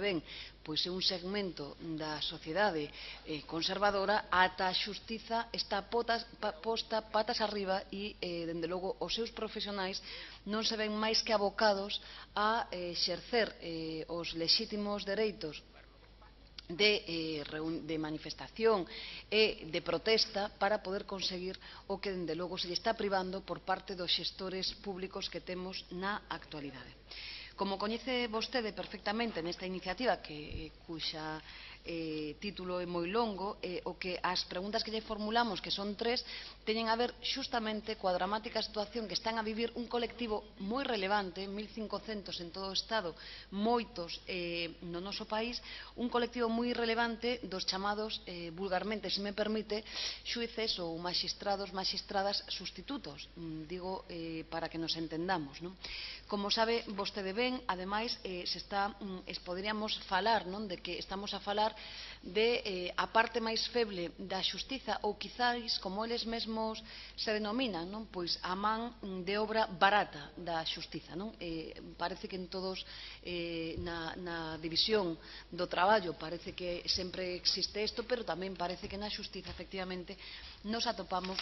ven pois é un segmento da sociedade conservadora, ata a xustiza está posta patas arriba e, dende logo, os seus profesionais non se ven máis que abocados a exercer os lexítimos dereitos de manifestación e de protesta para poder conseguir o que, dende logo, se lle está privando por parte dos xestores públicos que temos na actualidade. Como coñece vostede perfectamente nesta iniciativa, cuxa título é moi longo, o que as preguntas que lle formulamos, que son 3, teñen a ver xustamente coa dramática situación que están a vivir un colectivo moi relevante, 1.500 en todo o Estado, moitos no noso país, un colectivo moi relevante dos chamados, vulgarmente, se me permite, xuíces ou magistrados, magistradas sustitutos, digo para que nos entendamos. Como sabe vostede ben, ademais, poderíamos falar de que estamos a falar de a parte máis feble da xustiza, ou quizáis, como eles mesmos se denominan, pois a man de obra barata da xustiza. Parece que en todos, na división do traballo, parece que sempre existe isto, pero tamén parece que na xustiza, efectivamente, nos atopamos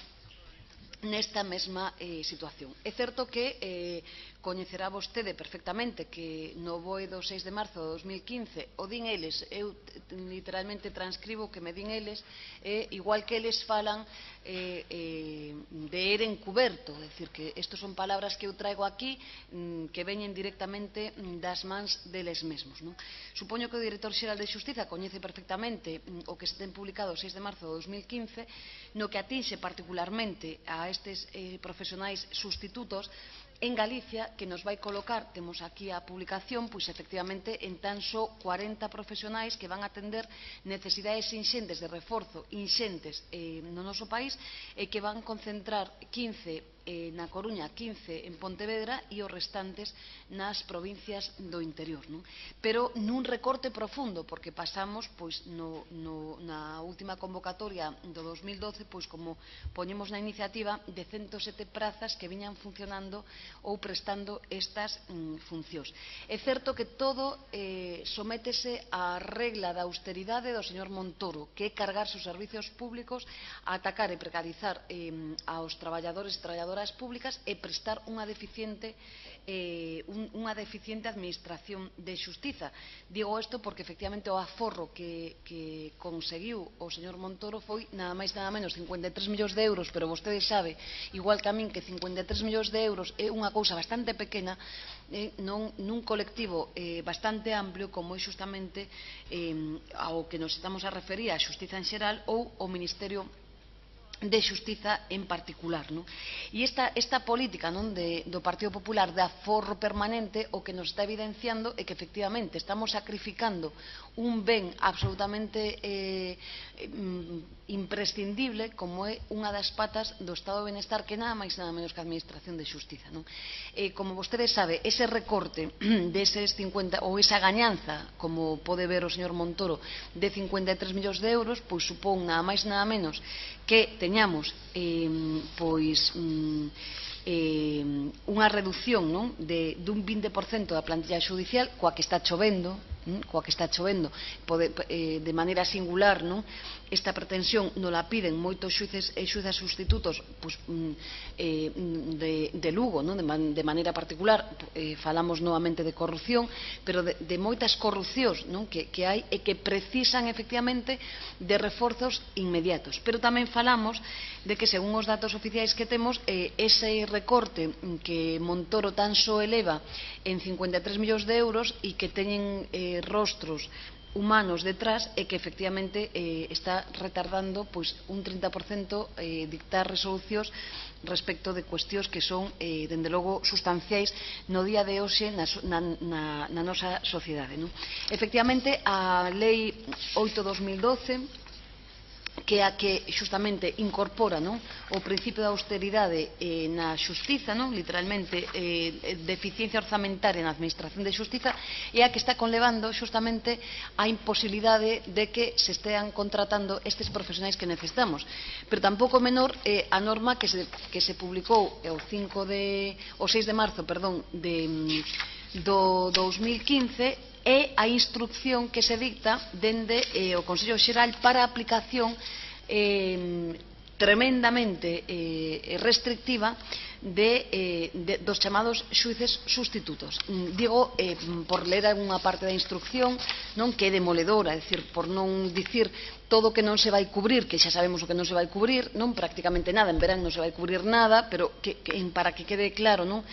nesta mesma situación. É certo que coñecerá vostede perfectamente que no BOE do 6 de marzo de 2015 o din eles, eu literalmente transcribo que me din eles, igual que eles falan de ere encuberto, é dicir, que estos son palabras que eu traigo aquí que veñen directamente das mans deles mesmos. Supoño que o director xeral de Xustiza coñece perfectamente o que se ten publicado o 6 de marzo de 2015, no que atinxe particularmente a estes profesionais sustitutos en Galicia, que nos vai colocar, temos aquí a publicación, pois efectivamente en tan só 40 profesionais que van a atender necesidades inxentes de reforzo, inxentes no noso país, e que van concentrar 15 na Coruña, 15 en Pontevedra e os restantes nas provincias do interior. Pero nun recorte profundo, porque pasamos na última convocatoria do 2012, como poñemos na iniciativa, de 107 prazas que viñan funcionando ou prestando estas funcións. É certo que todo sométese á regla da austeridade do señor Montoro, que é cargarse os servizos públicos, a atacar e precarizar aos traballadores e traballadoras públicas e prestar unha deficiente administración de xustiza. Digo isto porque efectivamente o aforro que conseguiu o señor Montoro foi nada máis nada menos 53 millóns de euros, pero vostede sabe, igual que a min, que 53 millóns de euros é unha cousa bastante pequena nun colectivo bastante amplio como é xustamente ao que nos estamos a referir, a xustiza en xeral ou o Ministerio de Xustiza en particular. E esta política do Partido Popular de aforro permanente o que nos está evidenciando é que efectivamente estamos sacrificando un ben absolutamente imprescindible como é unha das patas do Estado de Benestar, que nada máis nada menos que a Administración de Xustiza. Como vostede sabe, ese recorte deses 50, ou esa gañanza, como pode ver o señor Montoro, de 53 millóns de euros, pois supón nada máis nada menos que teñamos unha reducción dun 20% da plantilla xudicial, coa que está chovendo de maneira singular. Esta pretensión non la piden moitos xuíces e xuízas sustitutos de Lugo, de maneira particular. Falamos novamente de corrupción, pero de moitas corrupcións que hai e que precisan efectivamente de reforzos inmediatos. Pero tamén falamos de que, según os datos oficiais que temos, ese recorte que Montoro tan só eleva en 53 millóns de euros e que teñen rostros humanos detrás, e que efectivamente está retardando un 30% dictar resolucións respecto de cuestións que son, dende logo, sustanciais no día de hoxe na nosa sociedade. Efectivamente, a Lei 8/2012, que é a que xustamente incorpora o principio da austeridade na xustiza, literalmente de eficiencia orzamentaria na administración de xustiza, é a que está conlevando xustamente a imposibilidade de que se estean contratando estes profesionais que necesitamos. Pero tampouco menor a norma que se publicou o 6 de marzo do 2015, é a instrucción que se dicta dende o Consello Xeral para a aplicación tremendamente restrictiva dos chamados xuíces sustitutos. Digo, por ler algunha parte da instrucción, non, que é demoledora, é dicir, por non dicir todo o que non se vai cubrir, que xa sabemos o que non se vai cubrir, non, prácticamente nada, en verán non se vai cubrir nada, pero para que quede claro, non,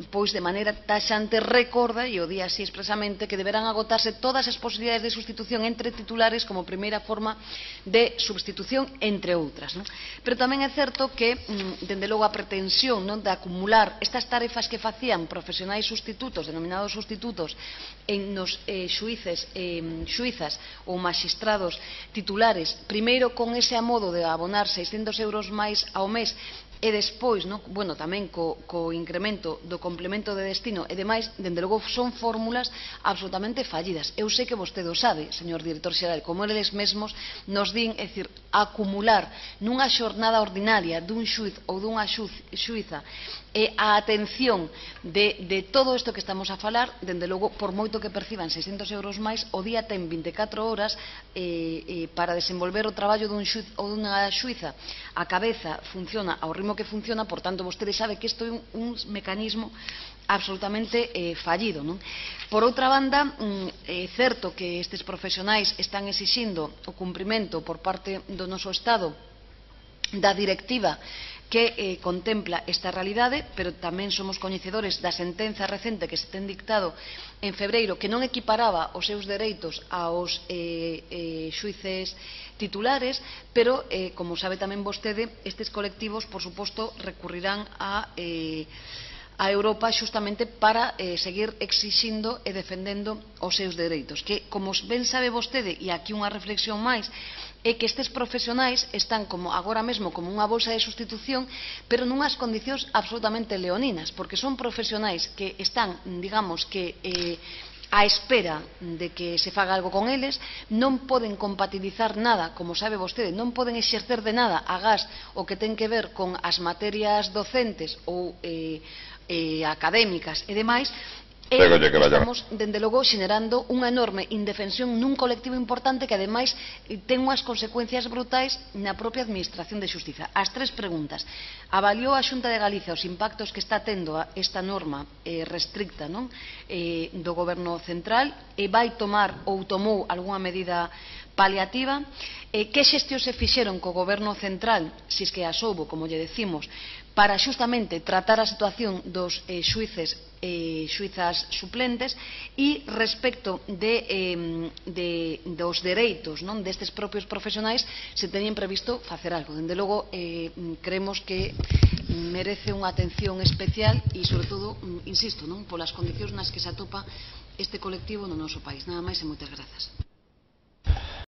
pois de maneira taxante recorda, e o di así expresamente, que deberán agotarse todas as posibilidades de sustitución entre titulares como primeira forma de substitución, entre outras, non? Pero tamén é certo que, dende logo, a pretensión, non, de acumular estas tarefas que facían profesionais sustitutos, denominados sustitutos, nos xuízas ou magistrados titulares, primeiro con ese amodo de abonar 600 euros máis ao mes, e despois, tamén co incremento do complemento de destino e demais, dende logo son fórmulas absolutamente fallidas. Eu sei que vostede o sabe, señor director xeral, como eles mesmos nos din, é dicir, acumular nunha xornada ordinaria dun xuíz ou dunha xuíza a atención de todo isto que estamos a falar, dende logo, por moito que perciban 600 euros máis, o día ten 24 horas para desenvolver o traballo dun xuíz ou dunha xuíza. A cabeza funciona ao ritmo que funciona, por tanto, vostede sabe que isto é un mecanismo absolutamente fallido, non? Por outra banda, é certo que estes profesionais están exixindo o cumprimento por parte do noso Estado da directiva que contempla esta realidade, pero tamén somos coñecedores da sentenza recente que se ten dictado en febreiro, que non equiparaba os seus dereitos aos xuíces titulares, pero, como sabe tamén vostede, estes colectivos, por suposto, recurrirán a Europa xustamente para seguir exixindo e defendendo os seus dereitos, que, como ben sabe vostede, e aquí unha reflexión máis, é que estes profesionais están agora mesmo como unha bolsa de sustitución, pero nunhas condicións absolutamente leoninas, porque son profesionais que están, digamos, que á espera de que se faga algo con eles, non poden compatibilizar nada, como sabe vostede, non poden exercer de nada agás o que ten que ver con as materias docentes ou académicas e demais, estamos, dende logo, xenerando unha enorme indefensión nun colectivo importante que, ademais, ten unhas consecuencias brutais na propia Administración de Xustiza. As tres preguntas. Avaliou a Xunta de Galicia os impactos que está tendo esta norma restricta do Goberno Central e vai tomar ou tomou algunha medida paliativa? Que xestións se fixeron co Goberno Central, se es que as houbo, como lle decimos, para xustamente tratar a situación dos xuízas suplentes, e respecto dos dereitos destes propios profesionais, se teñen previsto facer algo. Dende logo, creemos que merece unha atención especial e, sobre todo, insisto, polas condicións nas que se atopa este colectivo no noso país. Nada máis e moitas grazas.